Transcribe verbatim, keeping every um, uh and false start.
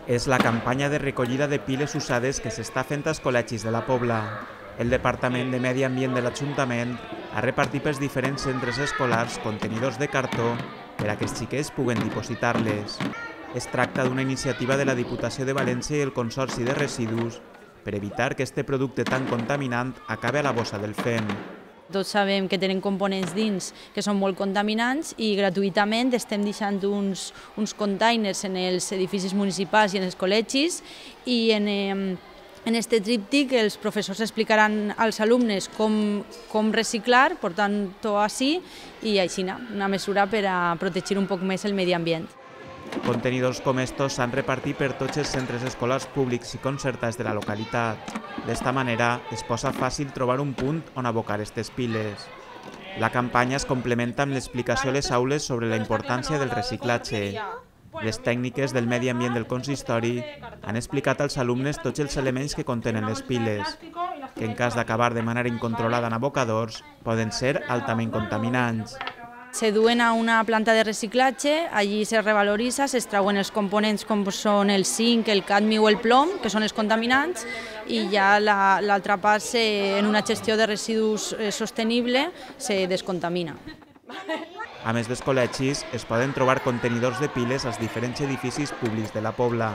És la campanya de recollida de piles usades que s'està fent als col·legis de la Pobla. El Departament de Medi Ambient de l'Ajuntament ha repartit pels diferents centres escolars contenidors de cartó per a que els xiquets puguen dipositar-les. Es tracta d'una iniciativa de la Diputació de València i el Consorci de Residus per evitar que este producte tan contaminant acabi a la bossa del fem. Tots sabem que tenen components dins que són molt contaminants i gratuïtament estem deixant uns, uns containers en els edificis municipals i en els col·legis i en, en este tríptic els professors explicaran als alumnes com, com reciclar, portant-ho així i així, una mesura per a protegir un poc més el medi ambient. Contenidors com estos s'han repartit per tots els centres escolars públics i concertats de la localitat. D'esta manera es posa fàcil trobar un punt on abocar aquestes piles. La campanya es complementa amb l'explicació a les aules sobre la importància del reciclatge. Les tècniques del medi ambient del consistori han explicat als alumnes tots els elements que contenen les piles, que en cas d'acabar de manera incontrolada en abocadors poden ser altament contaminants. Se duen a una planta de reciclatge, allí se revaloritza, s'extrauen els components com són el zinc, el cadmi o el plom, que són els contaminants, i ja l'altra part, en una gestió de residus sostenible, se descontamina. A més dels col·legis, es poden trobar contenidors de piles als diferents edificis públics de la Pobla.